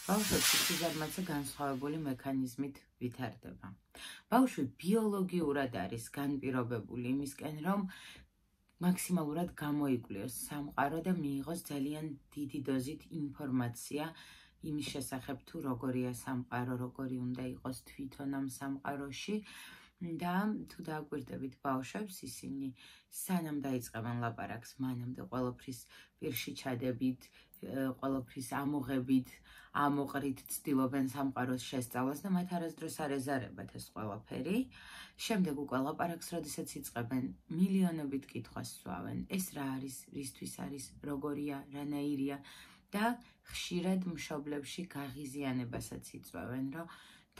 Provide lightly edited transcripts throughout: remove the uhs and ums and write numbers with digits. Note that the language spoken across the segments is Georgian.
ბავშვებში სიზარმაცე განსხვავებული მექანიზმით ვითარდება. ბავშვი ბიოლოგიურად არის განპირობებული იმისკენ, რომ მაქსიმალურად გამოიკვლიოს სამყარო და მიიღოს ძალიან დიდი დოზით ინფორმაცია იმის შესახებ თუ როგორია სამყარო, როგორი უნდა იყოს თვითონ ამ სამყაროში და თუ დააკვირდებით ბავშვებს, ისინი სანამ დაიწყებენ ლაპარაკს, მანამდე ყველაფრის პირში ჩადებით, ყველაფრის ამოღებით, ამოყრით ცდილობენ სამყაროს შესწავლას და მათ არასდროს არ ეზარებათ ეს ყველაფერი. შემდეგ უკვე ლაპარაკს, როდესაც იწყებენ, მილიონობით კითხვას სვავენ. ეს რა არის, რისთვის არის, როგორია, რანაირია და ხშირად მშობლებში გაღიზიანებასაც იწვევენ, რომ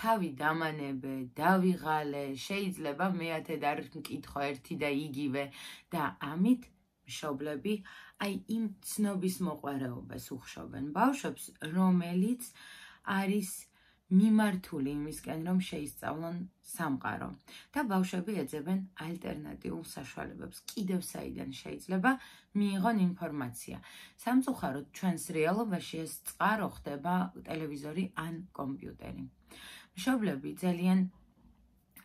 თავი დამანებე, დავიღალე, შეიძლება მეათედ არ მკითხო ერთი და იგივე და ამით მშობლები აი იმ ცნობის მოყვარეობას უხშობენ ბავშვებს, რომელიც არის მიმართული იმისკენ, რომ შეისწავლონ სამყარო და ბავშვები ეძებენ ალტერნატიულ საშუალებებს. კიდევ საიდან შეიძლება მიიღონ ინფორმაცია. სამწუხაროდ ჩვენს რეალობაში ეს წყარო ხდება ტელევიზორი ან კომპიუტერი. მშობლები ძალიან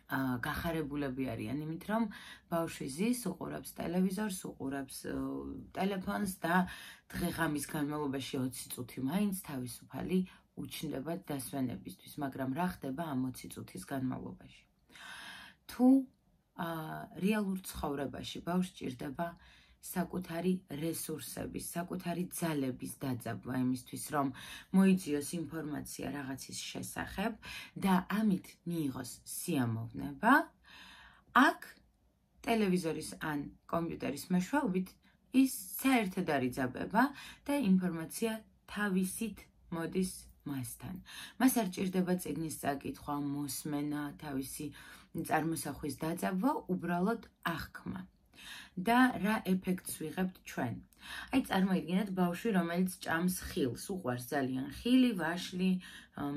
გახარებულები არიან იმით, რომ ბავშვი ზის, უყურებს ტელევიზორს, უყურებს ტელეფონს და დღე-ღამის განმავლობაში 20 წუთი მაინც თავისუფალი უჩნდება დასვენებისთვის, მაგრამ რა ხდება ამ 20 წუთის განმავლობაში? თუ რეალურ ცხოვრებაში ბავშვს ჭირდება საკუთარი რესურსების, საკუთარი ძალების დაძაბვა იმისთვის, რომ მოიძიოს ინფორმაცია რაღაცის შესახებ და ამით მიიღოს სიამოვნება, აქ ტელევიზორის ან კომპიუტერის მეშვეობით ის საერთოდ არ იძაბება და ინფორმაცია თავისით მოდის მასთან. მას არ ჭირდება წიგნის წაკითხვა, მოსმენა, თავისი წარმოსახვის დაძაბვა, უბრალოდ აღქმა. და რა ეფექტს ვიღებთ ჩვენ? აი წარმოიდგინეთ ბავშვი, რომელიც ჭამს ხილს, უყვარს ძალიან ხილი, ვაშლი,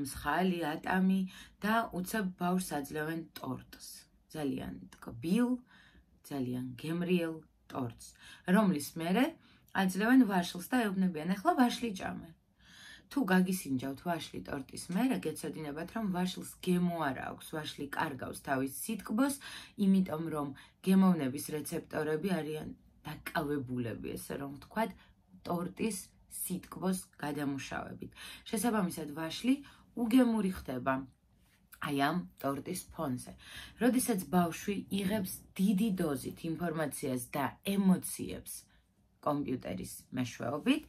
მსხალი, ატამი და უცებ ბავშვს აძლევენ ტორტს. ძალიან ტკბილ, ძალიან გემრიელ ტორტს, რომლის მერე აძლევენ ვაშლს და ეუბნებიან, ახლა ვაშლი ჭამე. თუ გაგისინჯავთ ვაშლი ტორტის მერე, გეცოდინებათ, რომ ვაშლს გემო არ აქვს, ვაშლი კარგავს თავის სითკბოს, იმიტომ რომ გემოვნების რეცეპტორები არიან დაკავებულები, ესე რომ ვთქვათ, ტორტის სითკბოს გადამუშავებით. შესაბამისად, ვაშლი უგემური ხდება აი ამ ტორტის ფონზე. როდესაც ბავშვი იღებს დიდი დოზით ინფორმაციას და ემოციებს კომპიუტერის მეშვეობით,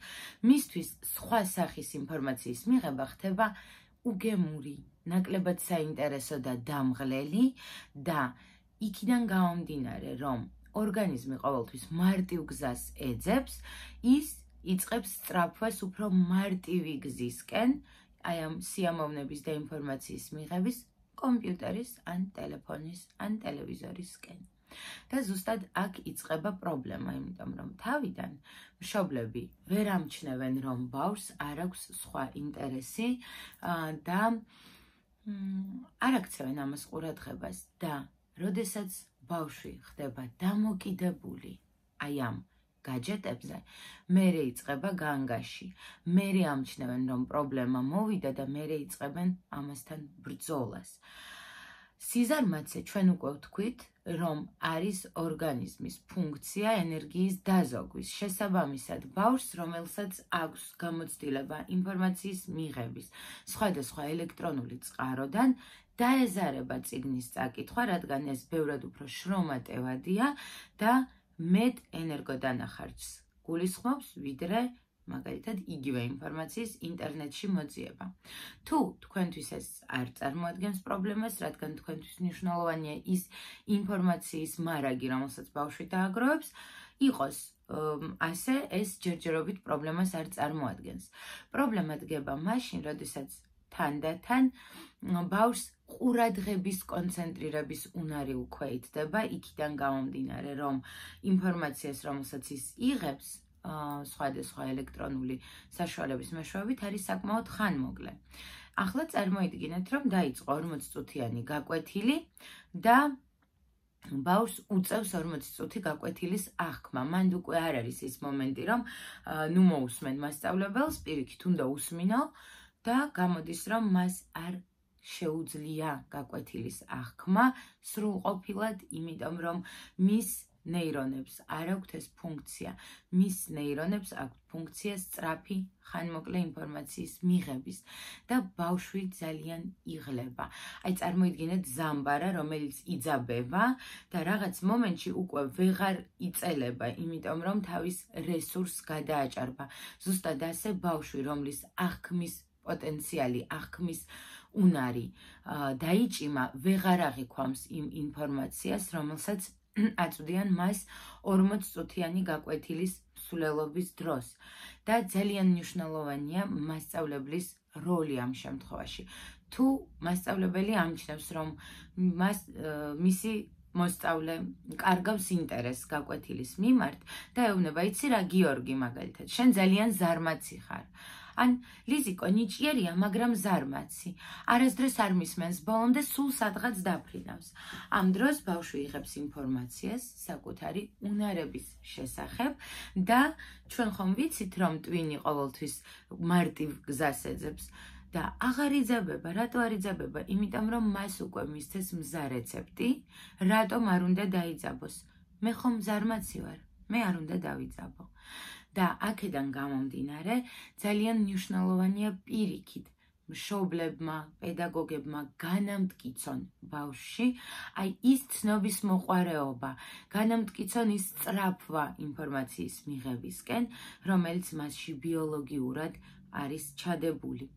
მისთვის სხვა სახის ინფორმაციის მიღება ხდება უგემური, ნაკლებად საინტერესო და დამღლელი და იქიდან გამომდინარე, რომ ორგანიზმი ყოველთვის მარტივ გზას ეძებს, ის იწყებს სწრაფვას უფრო მარტივი გზისკენ, აი ამ სიამოვნების და ინფორმაციის მიღების კომპიუტერის ან ტელეფონის ან ტელევიზორისკენ. და ზუსტად აქ იწყება პრობლემა, იმიტომ რომ თავიდან მშობლები ვერ ამჩნევენ, რომ ბავშვს არ აქვს სხვა ინტერესი და არ აქცევენ ამას ყურადღებას და როდესაც ბავშვი ხდება დამოკიდებული აი ამ გაჯეტებზე, მერე იწყება განგაში, მერე ამჩნევენ, რომ პრობლემა მოვიდა და მერე იწყებენ ამასთან ბრძოლას. სიზარმაცე ჩვენ უკვე ვთქვით, რომ არის ორგანიზმის ფუნქცია ენერგიის დაზოგვის. შესაბამისად, ბავშვს, რომელსაც აქვს გამოცდილება ინფორმაციის მიღების სხვადასხვა ელექტრონული წყაროდან, დაეზარება წიგნის წაკითხვა, რადგან ეს ბევრად უფრო შრომატევადია და მეტ ენერგოდანახარჯს გულისხმობს, ვიდრე მაგალითად იგივე ინფორმაციის ინტერნეტში მოძიება. თუ თქვენთვის ეს არ წარმოადგენს პრობლემას, რადგან თქვენთვის მნიშვნელოვანია ის ინფორმაციის მარაგი, რომელსაც ბავშვი დააგროვებს, იყოს ასე, ეს ჯერჯერობით პრობლემას არ წარმოადგენს. პრობლემა დგება მაშინ, როდესაც თანდათან ბავშვს ყურადღების კონცენტრირების უნარი უკვე ითდება, იქიდან გამომდინარე, რომ ინფორმაციას, რომელსაც ის იღებს, სხვადასხვა ელექტრონული საშუალების მეშვეობით არის საკმაოდ ხანმოკლე. ახლა წარმოიდგინეთ, რომ დაიწყო 40 წუთიანი გაკვეთილი და ბავშვს უწევს 40 წუთი გაკვეთილის აღქმა. მანდ უკვე არ არის ის მომენტი, რომ ნუ მოусმენ მასწავლებელს, პირიქით უნდა უსმინო და გამოდის, რომ მას არ შეუძლია გაკვეთილის აღქმა სრულყოფილად, იმიტომ რომ მის ნეირონებს არ აქვთ ეს ფუნქცია. მის ნეირონებს აქვთ ფუნქცია სწრაფი ხანმოკლე ინფორმაციის მიღების და ბავშვი ძალიან იღლება. აი წარმოიდგინეთ ზამბარა, რომელიც იძაბება და რაღაც მომენტში უკვე ვეღარ იწელება, იმიტომ რომ თავის რესურსს გადააჭარბა. ზუსტად ასე ბავშვი, რომლის აღქმის პოტენციალი, აღქმის უნარი დაიჭიმა, ვეღარ აღიქვამს იმ ინფორმაციას, რომელსაც აწვდიან მას 40 წუთიანი გაკვეთილის მსვლელობის დროს და ძალიან მნიშვნელოვანია მასწავლებლის როლი ამ შემთხვევაში. თუ მასწავლებელი ამჩნევს, რომ მისი მოსწავლე კარგავს ინტერესს გაკვეთილის მიმართ და ეუბნება, იცი რა, გიორგი, მაგალითად, შენ ძალიან ზარმაცი ხარ. ან ლიზიკო ნიჭიერია, მაგრამ ზარმაცი. არასდროს არ მისმენს ბოლომდე, სულ სადღაც დაფრინავს. ამ დროს ბავშვი იღებს ინფორმაციას საკუთარი უნარების შესახებ და ჩვენ ხომ ვიცით, რომ ტვინი ყოველთვის მარტივ გზას ეძებს და აღარ იძაბება. რატო არ იძაბება? იმიტომ რომ მას უკვე მისცეს მზა რეცეპტი, რატომ არ უნდა დაიძაბოს. მე ხომ ზარმაცი ვარ, მე არ უნდა დავიძაბო. და აქედან გამომდინარე, ძალიან მნიშვნელოვანია პირიქით მშობლებმა, პედაგოგებმა განამტკიცონ ბავშვში, აი ის ცნობის მოყვარეობა, განამტკიცონ ის სწრაფვა ინფორმაციის მიღებისკენ, რომელიც მასში ბიოლოგიურად არის ჩადებული.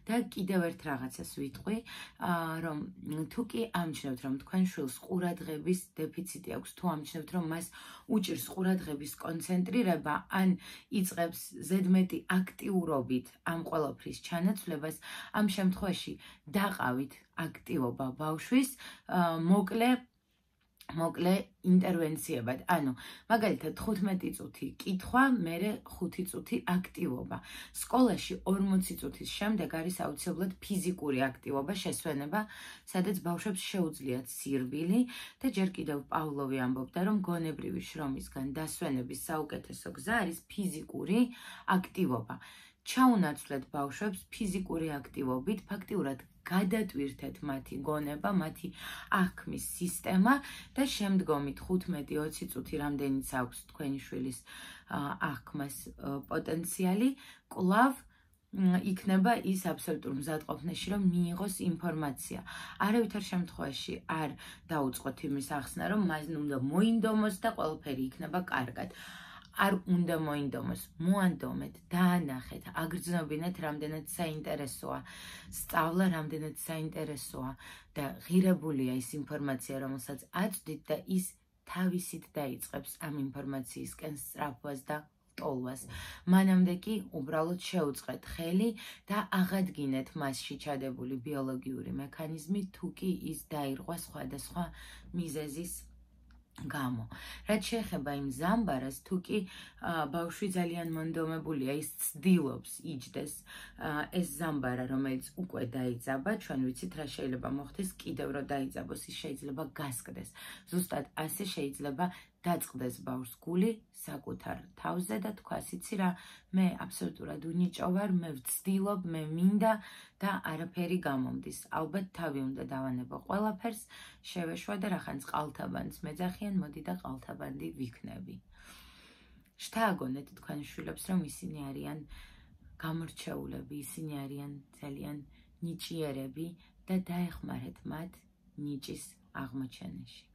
და კიდევ ერთ რაღაცას ვიტყვი, რომ თუ კი ამჩნევთ, რომ თქვენ შვილს ყურადღების დეფიციტი აქვს, თუ ამჩნევთ, რომ მას უჭირს ყურადღების კონცენტრირება, ან იწყებს ზედმეტი აქტიურობით ამ ყველაფრის ჩანაცვლებას, ამ შემთხვევაში დაყავით აქტივობა ბავშვის, მოკლე ინტერვენციებად. ანუ, მაგალითად 15 წუთი კითხვა, მერე 5 წუთი აქტივობა. სკოლაში 40 წუთის შემდეგ არის აუცილებლად ფიზიკური აქტივობა, შესვენება, სადაც ბავშვებს შეუძლიათ სირბილი და ჯერ კიდევ პავლოვი ამბობდა, რომ გონებრივი შრომისგან დასვენების საუკეთესო გზა არის ფიზიკური აქტივობა. ჩაუნაცვლეთ ბავშვებს ფიზიკური აქტივობით, ფაქტიურად გადატვირთეთ მათი გონება, მათი აღქმის სისტემა და შემდგომი 15-20 წუთი, რამდენიც აქვს თქვენი შვილის აღქმას პოტენციალი, კვლავ იქნება ის აბსოლუტურ მზადყოფნაში, რომ მიიღოს ინფორმაცია. არავითარ შემთხვევაში არ დაუწყოთ იმის ახსნა, რომ მას უნდა მოინდომოს და ყველაფერი იქნება კარგად. არ უნდა მოინდომოს, მოანდომეთ, დაანახეთ, აგრძნობინეთ, რამდენად საინტერესოა სწავლა, რამდენად საინტერესოა და ღირებულია ის ინფორმაცია, რომელსაც აწვდით და ის თავისით დაიწყებს ამ ინფორმაციისკენ სწრაფვას და ტოლვას. მანამდე კი უბრალოდ შეუწყეთ ხელი და აღადგინეთ მასში ჩადებული ბიოლოგიური მექანიზმი, თუ კი ის დაირღვა სხვადასხვა მიზეზის გამო. რაც შეეხება იმ ზამბარას, თუ კი ბავშვი ძალიან მონდომებულია, ის ცდილობს იჯდეს, ეს ზამბარა, რომელიც უკვე დაიძაბა, ჩვენ ვიცით რა შეიძლება მოხდეს, კიდევ რომ დაიძაბოს, ის შეიძლება გასკდეს. ზუსტად ასე შეიძლება დაწყდეს ბავშვს გული საკუთარ თავზე და თქვას, იცი რა, მე აბსოლუტურად უნიჭო ვარ, მე ვცდილობ, მე მინდა და არაფერი გამომდის. ალბათ თავი უნდა დავანებო ყველაფერს, შევეშვა და რახანს ყალთაბანდს მეძახიან, მოდი და ყალთაბანდი ვიქნები. შთააგონეთ თქვენ შვილებს, რომ ისინი არიან გამორჩეულები, ისინი არიან ძალიან ნიჭიერები და დაეხმარეთ მათ ნიჭის აღმოჩენაში.